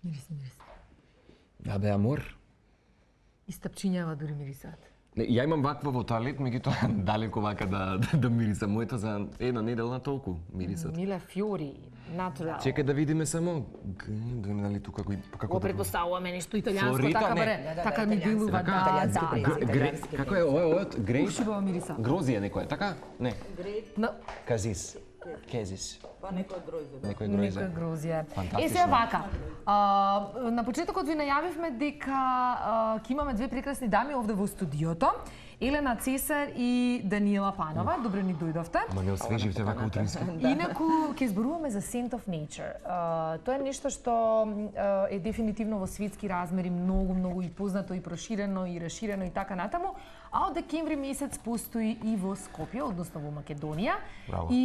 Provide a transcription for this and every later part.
Мирис. Да бе, амор. И стапчињава дури мирисат. Ја имам ваква во туалет, меѓутоа далеко вака да мириса. Моето за една неделна толку мирисат. Миле фјори, натурал. Чекај да видиме само дали тука како Го предпоставуваме нешто италијанско, Флорита, така не. баре, така ми билува, Како е ова од грейп? Ушибава мириса. Грозија некоја, така? Не. Казис. Кезис. Па некој грозе. Некој Некоја грозија. Фантастично. Сега вака, на почетокот ви најавивме дека ќе имаме две прекрасни дами овде во студиото. Елена Цесар и Даниела Панова. Добро ни дојдовте. Ама не освеживте вака утрински. Инаку ќе зборуваме за Scent of Nature. Тоа е нешто што е дефинитивно во светски размери многу и познато и проширено и расширено и така натаму, а од декември месец постои и во Скопје, односно во Македонија. Браво. И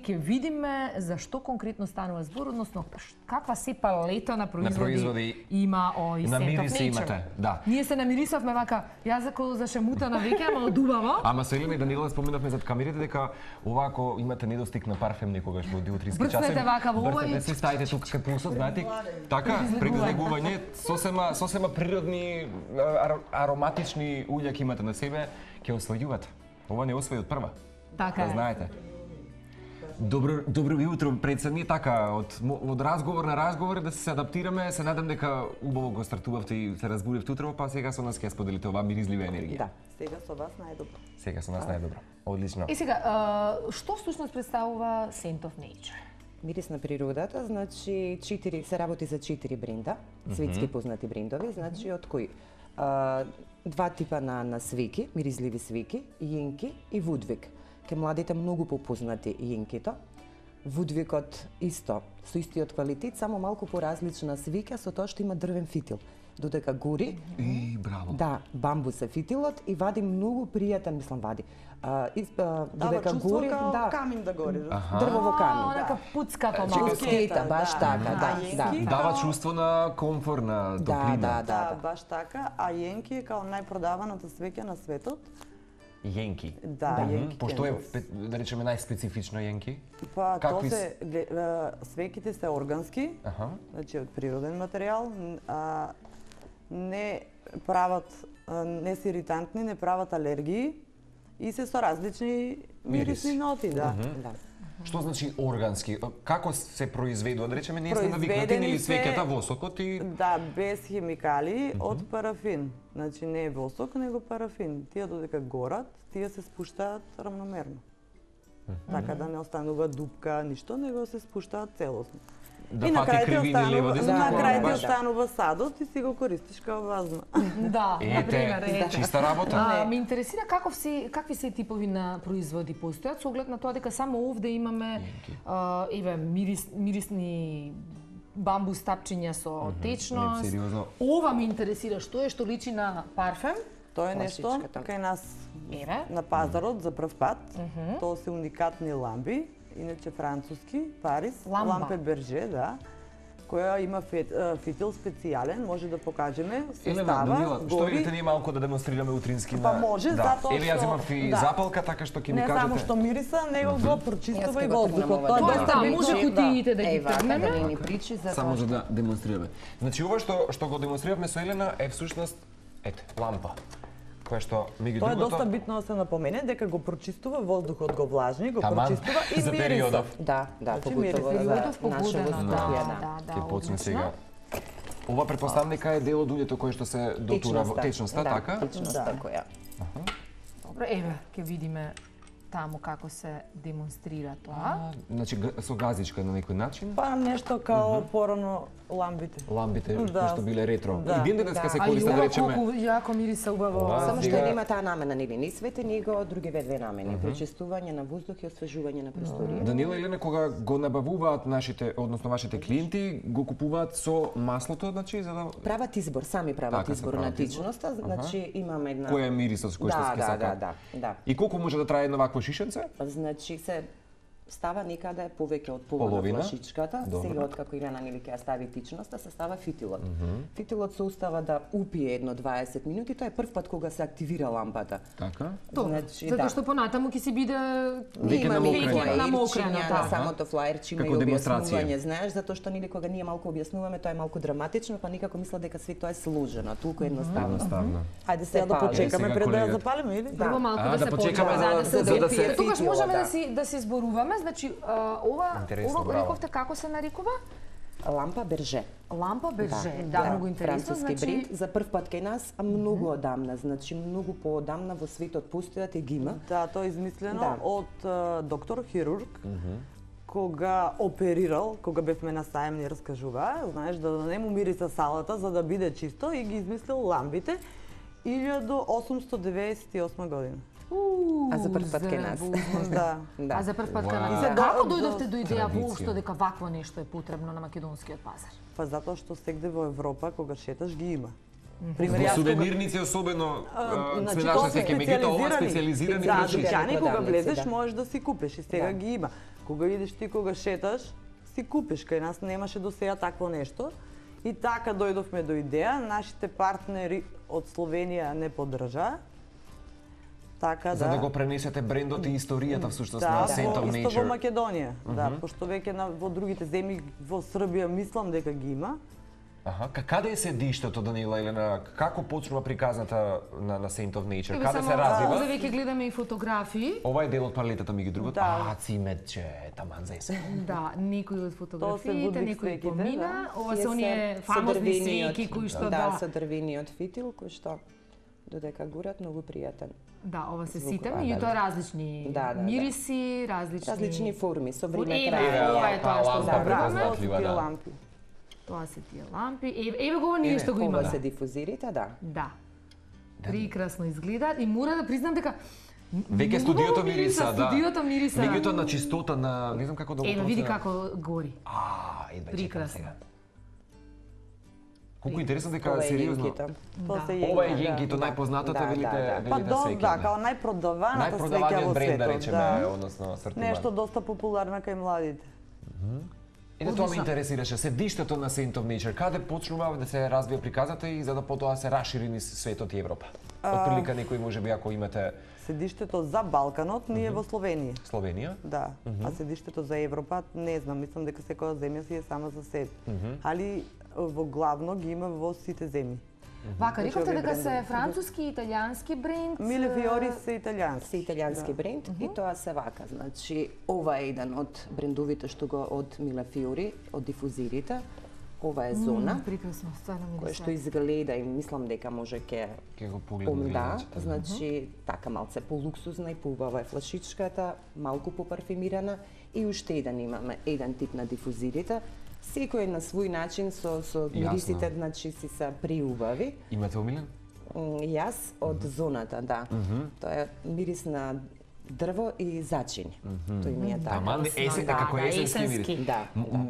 ќе видиме за што конкретно станува збор, односно каква се палета на производи има овој На Scent of мириси Nature. имате, да. Ние се намирисавме вака, јас за шемута на веќе, ама одубаво. Ама со Елена и Даниела споменавме зад камерите дека овако имате недостиг на парфем некогаш во утрински часови. Брцнете вака во овој. Брцнете се, ставите тука кај пулсот, знаете? Така, предлегување, сосема природни ароматични уља ќе имате на себе, ќе освојувате. Ова не освои од прва. Така Да е. знаете. Добро јутро, пред сами така, од разговор на разговор да се адаптираме, се надам дека убаво го стартувавте и се разбудивте утрово, па сега со нас ќе споделите оваа миризлива енергија. Да, сега со вас најдобро. Сега со нас најдобро. Одлично. И сега, што всушност представува Scent of Nature? Мирис на природата, значи се работи за 4 бренда, светски познати брендови, значи од кои два типа на свеки, миризливи свеки, јенки и вудвик. Ке младите многу попознати јенкито. Вудвикот исто, со истиот квалитет, само малку поразлична свеќа со тоа што има дрвен фитил. Додека гори, И браво. да, бамбус е фитилот и вади многу пријатен, Дава додека чувство гори, као да, камин да гори. дрвово камин. Нека пуцка помалку. Пускета, баш така, да, јенки Дава као- чувство на комфор, на топлина. Да, Да, баш така, а јенки е као најпродаваната свеќа на светот. Јенки. Да, јенки. Пошто е, кендълс. да речеме, најспецифично јенки? Па, Какви то се свеќите се органски, Аха. значи од природен материјал, не прават, не се иритантни, не прават алергии и се со различни мирисни ноти, да. Да. Што значи органски? Како се произведува? Да речеме, ние сме навикнати Произведени или се- свеќата восокот и Да, без химикали, од парафин. Значи не е восок, него парафин. Тие додека горат, тие се спуштаат рамномерно. Така да не останува дупка, ништо, него се спуштаат целосно. да И на фати крај ти кривини лево останува, десно. на крај ти баш. останува садот и си го користиш као вазна. Да, например, Ете, чиста работа. Ме интересира какви се типови на производи постојат, со оглед на тоа дека само овде имаме мирисни бамбус тапчиња со течност. Не, сериозно. Ова ме интересира, што е што личи на парфем? Тоа е нешто Класичката. кај нас Еве. на пазарот за прв пат. Тоа се уникатни ламби, иначе француски, Парис, Ламба. лампе Берже, да, која има фитил специјален, може да покажеме, се Елена, става, Даниела, што гори. идете ние малку да демонстрираме утрински Па на... може, да. затоа Или јас што- имав и да. запалка, така што ќе ми Не кажете. само што мириса, него го Јас прочистува ке и го воздухот. тргнам Тоа е ова, доста да, битно. може кутиите да ги Ева, тргнеме. да ни причи за Само тоа. за да демонстрираме. Значи ова што го демонстриравме со Елена е всушност лампа, која што меѓу Тоа е другото доста битно да се напомене дека го прочистува воздухот, го влажни, го Таман, прочистува и за мириса. периодов. Да, да, Значи, поготово мириси. за Периодов наше погодено, воздухје, да, да, ќе почне одлично. сега. Ова претпоставам дека е дел од улјето кој што се дотура во течноста, да, така? Течноста Да. која. Добро, еве, ќе видиме таму како се демонстрира тоа. Значи со газичка на некој начин. Па нешто као порано ламбите. Ламбите Да. кои што биле ретро. Да. И ден денеска се А и користат да ова речеме. колку јако мириса убаво. Ова, Само што сега- нема таа намена, нели, ни свети, ни го другиве две намени, пречистување на воздух и освежување на просторија. Даниела и Елена кога го набавуваат нашите, односно вашите клиенти, го купуваат со маслото, значи за да Прават избор, сами прават Така се избор прават на избор. течноста, значи имаме една кој е мирисот кој што Да, се да, сака. да, да. И колку може да трае едно вакво шишенце? Значи се става некаде повеќе од половина Половина? флашичката, Добро. сега откако Илена нели ќе ја стави тичноста, се става фитилот. Фитилот се остава да упие едно 20 минути, тоа е прв пат кога се активира лампата. Така? Значи, Затоа да. што понатаму ќе си биде Веќе Има намокрено. намокрено, на да. самото флаерче има и Како демонстрација. објаснување, знаеш, затоа што нели кога ние малку објаснуваме, тоа е малку драматично, па никако мисла дека све тоа е сложено, толку едноставно. Ставно. Ајде сега да пали. почекаме Сега пред да ја колегата. запалиме или? Прво малку А, да да се почекаме почека, за да се- Тогаш фитила, можеме да. да си зборуваме, значи ова Интересно, ова браво. рековте како се нарекува? Лампа берже. Лампа берже. Да, многу интересно, француски значи бренд за прв пат кај нас, а многу одамна, значи многу поодамна во светот постојат и ги има. Да, тоа е измислено Да. од доктор хирург, кога оперирал, кога бевме на сајм ни раскажува, знаеш, да не му мириса салата за да биде чисто и ги измислил ламбите 1898 година. А за прв пат кај нас. Да. Да. А за прв пат Вау. кај нас. И се Како до- дојдовте до идеја Традиција. воопшто дека вакво нешто е потребно на македонскиот пазар? Па затоа што сегде во Европа кога шеташ ги има. Во сувенирници особено Значи, сме тоа нашли се секој, меѓутоа ова специализирани. специализирани Да, врачи. дукани кога продавници, влезеш да. можеш да си купиш и сега Да. ги има. Кога идеш ти кога шеташ, си купиш. Кај нас немаше до сега такво нешто. И така дојдовме до идеја, нашите партнери од Словенија не поддржаа. Така За да го пренесете брендот и историјата всушност да, на Scent of исто во Nature. Македонија. Да, пошто веќе во другите земји во Србија мислам дека ги има. Аха, каде е седиштето, Данила Елена? Како почнува приказната на Scent of Nature? Каде се За развива? веќе гледаме и фотографии. Ова е дел од палетата, меѓу другото. Да. А, цимече, таман за се. Да, некои од фотографиите, Будвик некои свеќите, помина. да. Ова Тие се оние со фамозни дрвениот- свеќи кои што да, со дрвениот фитил кој што додека горат многу пријатен. Да, ова се Звук, сите, да, меѓутоа да. различни Да, да, да. мириси, Различни форми со време Еве, траја. ова е тоа што лампа зборуваме. препознатлива, Тие да. лампи. Тоа се тие лампи. Еве го ние што го Ова имаме. се дифузирите, да. Да. Прекрасно изгледаат и мора да признам дека Веќе многу студиото убаво мириса, да. Студиото мириса. Меѓутоа на чистота на, не знам како да го Еве види проценам. како гори. Идвај, чекам Прекрасно. сега. Колку интересно дека Ова е сериозно. јенкито. Тоа Да. се јенки. Ова е да. јенкито, Да. најпознатата, Да, велите, да, да. Па велите свеќа. да, као најпродаваната свеќа Најпродаваниот во бренд, да светот. речеме, односно асортимент. Нешто доста популарно кај младите. И да тоа ме Одлично. интересираше, седиштето на Scent of Nature, каде почнува да се развија приказата и за да потоа се расшири низ светот и Европа? Од прилика некој можеби ако имате Седиштето за Балканот ние во Словенија. Словенија, Да, а седиштето за Европа не знам, мислам дека секоја земја си е сама за себе. Али во главно ги има во сите земји. Вака, Значи, рековте овие дека се брендови. француски и италијански бренд. Миле Фиори се Се италијански. италијански бренд и тоа се вака. Значи, ова е еден од брендовите што го од Миле Фиори, од дифузирите. Ова е зона Прекрасно, стварно ми која што изгледа и мислам дека може ќе ќе го погледнат да, гледачите. значи така малце полуксузна и поубава е флашичката, малку попарфимирана и уште еден имаме, еден тип на дифузирите. Секој на свој начин со мирисите, значи си се приубави. Имате омилен? Јас од зоната, да. Тоа е мирис на дрво и зачини. Тој ми е така. Таман есен, да, како да, есенски есенски. мирис. Да,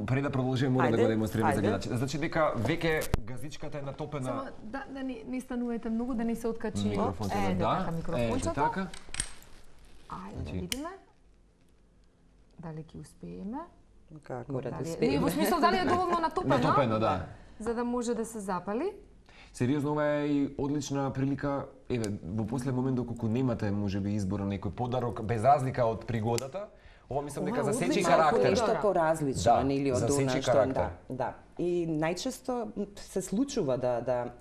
Пред да продолжиме мора да Ајде, го демонстрираме за ајде. гледачите. Значи дека веќе газичката е натопена. Само да не станувате многу, да не се откачи. Микрофончето, Ете да. така микрофончето. така. Ајде да видиме. Дали ќе успееме? Како? Мора да Дали... успееме. Не, во смисло дали е доволно натопено, Натопено, да. за да може да се запали. Сериозно, ова е и одлична прилика. Еве, во последен момент доколку немате можеби избор на некој подарок без разлика од пригодата, ова мислам дека Ова е засечи одлично. карактер. Нешто поразлично, Да, нели од засечи она што карактер. да. И најчесто се случува да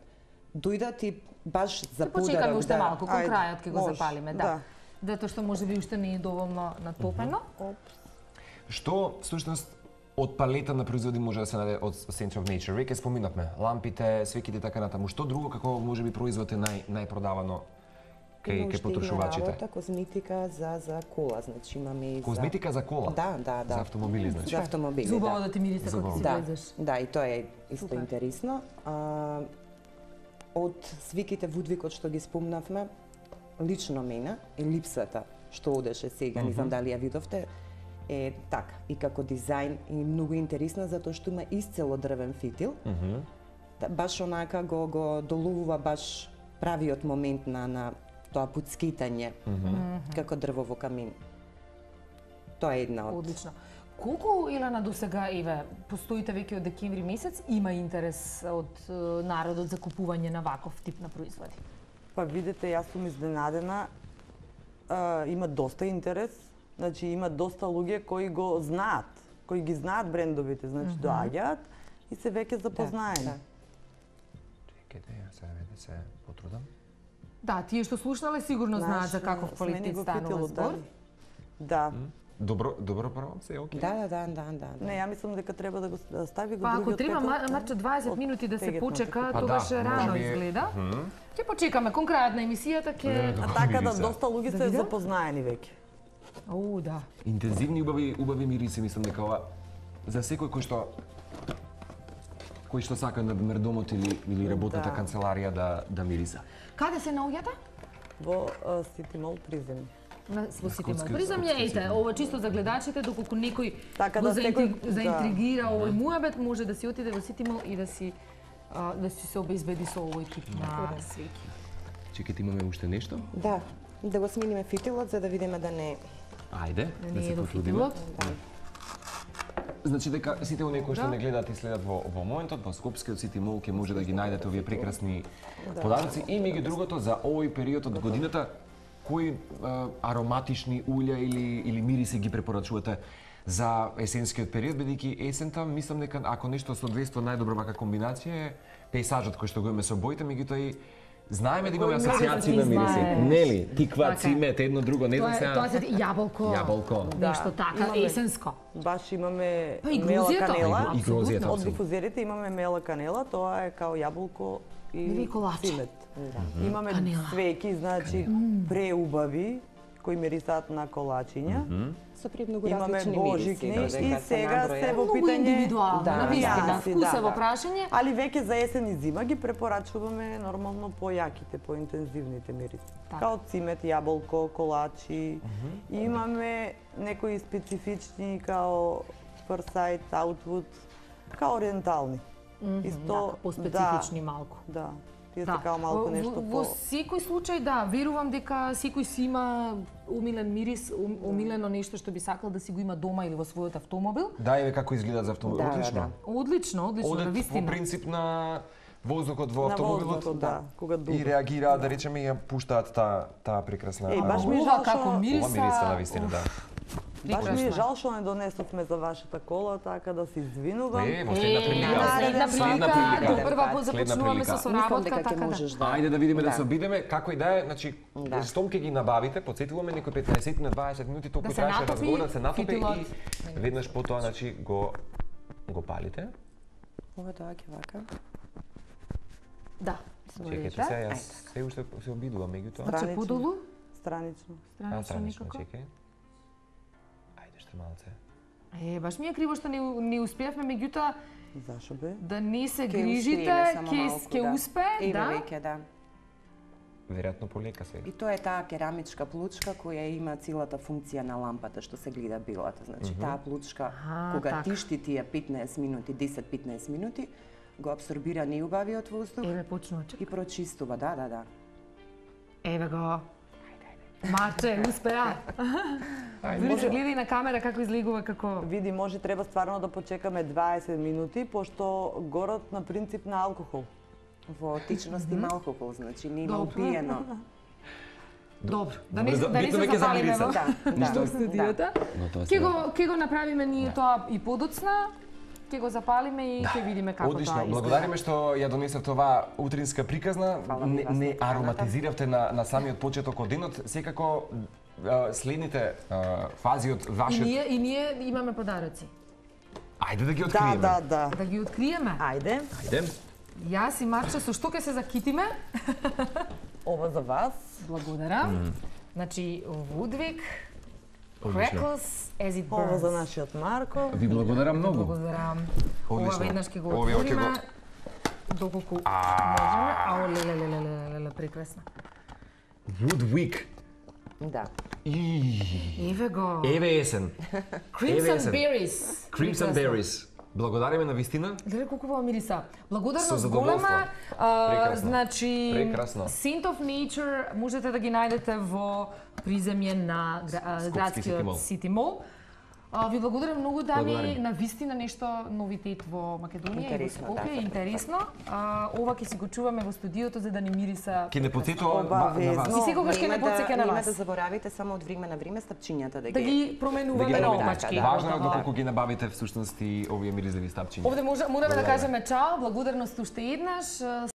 дојдат и баш за Ќе почекаме подарок, уште да. малку, кон Ајде, крајот ќе го може, запалиме, да. Затоа што можеби уште не е доволно натопено. Што всушност од палета на производи може да се најде од Scent of Nature? Веќе споминавме лампите, свеките и така натаму. Што друго како можеби производ е најпродавано Има кај уште една потрошувачите? работа, козметика за кола, значи имаме и Козметика за кола? Да. За автомобили, значи. За автомобили, Зубаво да. да ти мирисе кога Зубаво. си Да, влезеш. да, и тоа е исто Супер. интересно. Од свиките Вудвикот што ги спомнавме, лично мене е липсата што одеше сега, не знам дали ја видовте, е така, и како дизајн и многу интересна затоа што има исцело дрвен фитил. Да, баш онака го доловува баш правиот момент на тоа пуцкитање како дрво во камин. Тоа е една од. Одлично. Колку, Елена, до сега, постоите веќе од декември месец, има интерес од народот за купување на ваков тип на производи? Па видите, јас сум изненадена. Има доста интерес. Значи има доста луѓе кои го знаат, кои ги знаат брендовите, значи доаѓаат и се веќе запознаени. Чекайте, ја се потрудам. Да, тие што слушнале сигурно знаат за каков квалитет станува збор. Да. Добро прво, се окей. Да. Не, ја мислам дека треба да го стави го Па ако другиот треба петок, Марче 20 минути да се тегетното. почека, Па тогаш да, рано може би изгледа. Ќе почекаме кон крајот на емисијата ќе А така да Мириса. доста луѓе се видам? запознаени веќе. да. Интензивни убави мириси, мислам дека ова за секој кој што сака на мердомот или работната Да. канцеларија да мириса. Каде се наоѓате? Во City Mall приземје. Во Сити Мол. Скотски- Приземје, скотски ете, Сити. ова чисто за гледачите, доколку некој Така го да секој- заинтригира овој муабет, може да си отиде во Сити Мол и да си се обезбеди со овој тип на свеќи. Чекайте, имаме уште нешто? Да го смениме фитилот за да видиме да не Ајде, да Не се е до потрудиме. фитилот. Значи дека сите оние кои што Да. не гледаат и следат во моментот, во Скопскиот Сити Мол ќе може да ги најдете овие прекрасни подароци и меѓу другото за овој период од годината кои ароматични улја или мириси ги препорачувате за есенскиот период, бидејќи есента мислам дека ако нешто соодветства најдобро вака комбинација е пејсажот кој што го имаме со боите, меѓутоа и знаеме да имаме Кој асоцијации може на да мириси. знае. Нели, тиква, Така е. цимет, едно друго, не знам сега. Тоа се јаболко. Јаболко. Нешто Да, така имаме. есенско. Баш имаме Па и мела грузијата. канела. И грузијата, Од апсолутно. дифузерите имаме мела канела, тоа е као јаболко Или и колаче. цимет. Имаме Канела. свеќи, значи преубави кои мирисаат на колачиња. со премногу Имаме различни божикни мириси. и сега се во Многу питање индивидуално, Да, навистина, варијанси, вкусово да. прашање. Али веќе за есен и зима ги препорачуваме нормално појаките, поинтензивните мириси. Така. Као цимет, јаболко, колачи. И имаме некои специфични као Форсайт, Аутвуд, као ориентални. Исто По-специфични малку. Да. Тие се као малку нешто Во по секој случај, да, верувам дека секој си има умилен мирис, умилено нешто што би сакал да си го има дома или во својот автомобил. Да, еве како изгледа за автомобил. Да, Одлично. Одлично, на Одат по вистина. принцип на воздухот во на автомобилот воздухот, да, кога и дуva. реагираат, да речеме, и ја пуштаат таа прекрасна Еј, баш ми е Ова жал како што мириса. ова мириса на вистина, да. баш ми е прекрасно. жал што не донесовме за вашата кола, така да се извинувам. Во следна прилика. Следна Следна прилика, прилика. до прва Следна започнуваме прилика. со Мислам соработка, дека ќе така да. можеш да. Ајде да видиме да се обидеме како и да е, значи Да. стом ќе ги набавите, потсетуваме некои 15 на 20 минути толку Да се траеше натопи разговор, да се натопи фитилот. и веднаш потоа значи го палите. Ова доаѓа вака. Да. Чекајте се, јас се уште се обидувам меѓутоа. Значи Странично. подолу, Странично. странично Странично, некако. чекај. Ајде што малце. Баш ми е криво што не успеавме, меѓутоа Зашо бе? да не се Ќе грижите, устриме само малку, ќе да. успее, Еве да. веќе, да. Веројатно полека се. И тоа е таа керамичка плучка која има целата функција на лампата што се гледа билата. Значи таа плучка кога така. тишти тие 15 минути, 10-15 минути, го абсорбира неубавиот воздух Еве почнува чек. и прочистува, да. Еве го. Марче, успеа. Дури се гледа и на камера како излегува, како... Види, може треба стварно да почекаме 20 минути, пошто горат на принцип на алкохол. Во тичност има алкохол, значи не има Добро. упиено. Добро, да Добро, не за- да не битно се веќе запалиме замириса. во Да, во студиото. Но тоа Ќе го направиме ние тоа и подоцна. Ќе го запалиме и ќе видиме како Одлично, тоа изгледа. благодариме што ја донесовте оваа утринска приказна. Фала ви вас Не на поканата. ароматизиравте на самиот почеток од денот. Секако следните фази од вашиот... И ние имаме подароци. Ајде да ги Да, откриеме. да. Да ги откриеме. Ајде, Ајде. Јас и Марче со што ќе се закитиме? ова за вас. Благодарам. Значи, Woodwick, Одлично. Crackles, as it Ова за burns. нашиот Марко. Ви благодарам многу. Благодарам. Ова Одлично. веднаш ќе го Овие ќе отвориме. го- Доколку можеме. Ао, леле, прекрасно. Woodwick. Да. Еве го. Еве есен. Crimson есен. Berries. Crimson Прекрасно. Berries. Благодариме на вистина. Гледај колку во мириса. Со Благодарност задоволство. голема. Прекрасно. Значи, Прекрасно. Scent of Nature можете да ги најдете во приземје на Скопски City градскиот Mall. City Mall. Ви благодарам многу, дами, Благодарим. на вистина нешто новитет во Македонија и во Интересно, Скопје, така. интересно. Ова ќе си го чуваме во студиото за да ни мириса. Ке не потсетува на Обавезно. вас. И секогаш ќе не потсеќа на Нема вас. да заборавите само од време на време стапчињата Да ги променуваме Да ги на набавите. опачки. Важно е Готово. доколку ги набавите всушност и овие миризливи стапчиња. Овде можеме да кажеме чао, благодарност уште еднаш.